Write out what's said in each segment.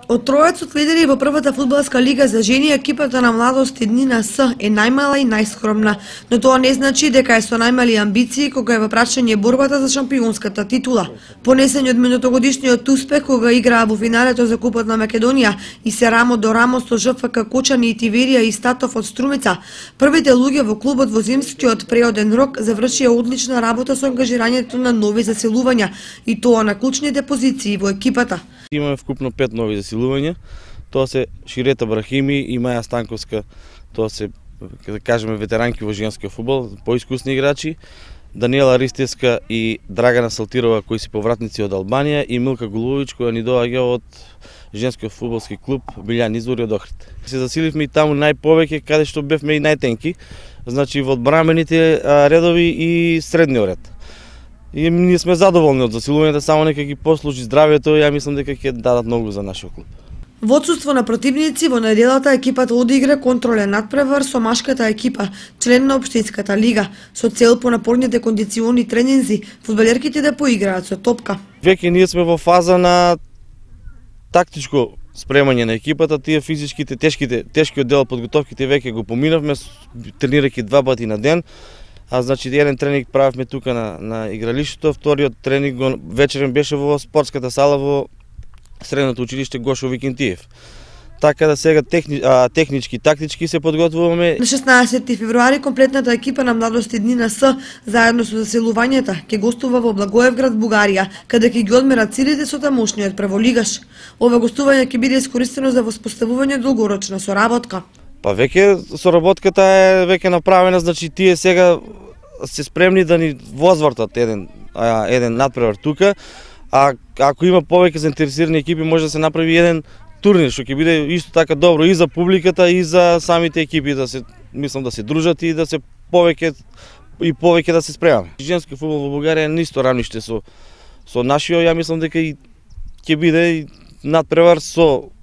Од тројецот лидери во првата фудбалска лига за жени, екипата на Младост Еднина С е најмала и најскромна, но тоа не значи дека е со најмали амбиции кога е во прашање борбата за шампионската титула. Понесени од минутогодишниот успех кога играа во финалето за Купот на Македонија и се рамо до рамо со ЖФК Кочани и Тиверија и Статов од Струмица, првите луѓе во клубот во зимскиот преоден рок завршија одлична работа со ангажирањето на нови заселувања и тоа на клучните позиции во екипата. Имаме вкупно 5 нови заселувања. Тоа се Ширета Брахими и Маја Станковска, тоа се, да кажеме, ветеранки во женскиот фудбал, поискусни играчи, Даниела Ристевска и Драгана Салтирова, кои се повратници од Албанија, и Милка Голубович, која ни доаѓа од женскиот фудбалски клуб Билјан Извори од Охрид. Се засиливме и таму најповеќе, каде што бевме и најтенки, значи во одбранбените редови и средниот ред. И ние сме задоволни од засилувањето, само нека ги послужи здравјето, ја мислам дека ќе дадат многу за нашиот клуб. Во отсуство на противници, во неделата екипата одигра контролен надпревар со машката екипа, член на општинската лига, со цел по напорните кондициони тренинзи, фудбалерките да поиграат со топка. Веќе ние сме во фаза на тактичко спремање на екипата, тие физичките, тешкиот дел од подготовките веќе го поминавме, тренирајќи 2 пати на ден. Значи, еден тренинг правевме тука на игралиштето, вториот тренинг вечерен беше во спортската сала во средното училиште Гошо Викентиев. Така да сега технички, тактички се подготвуваме. На 16 февруари комплетната екипа на Младост Еднина С, заедно со заселувањата, ќе гостува во Благоевград, Бугарија, каде ќе ги одмерат силите со тамошниот прволигаш. Ова гостување ќе биде искористено за воспоставување долгорочна соработка. Па веќе соработката е веќе направена, значи тие сега се спремни да ни возвртат еден надпревар тука, а ако има повеќе заинтересирани екипи може да се направи еден турнир што ќе биде исто така добро и за публиката и за самите екипи мислам да се дружат и да се повеќе да се спремаме. Женски фудбал во Бугарија е на исто рамниште со нашиот, ја мислам дека и ќе биде надпревар со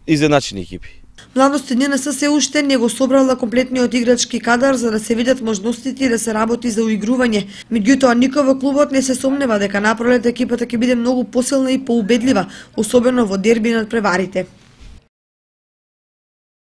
изедначени екипи. Младост Еднина С се уште не го собрала комплетниот играчки кадар за да се видат можностите и да се работи за уигрување. Меѓутоа, никој во клубот не се сомнева дека напролет екипата ќе биде многу посилна и поубедлива, особено во дерби над преварите.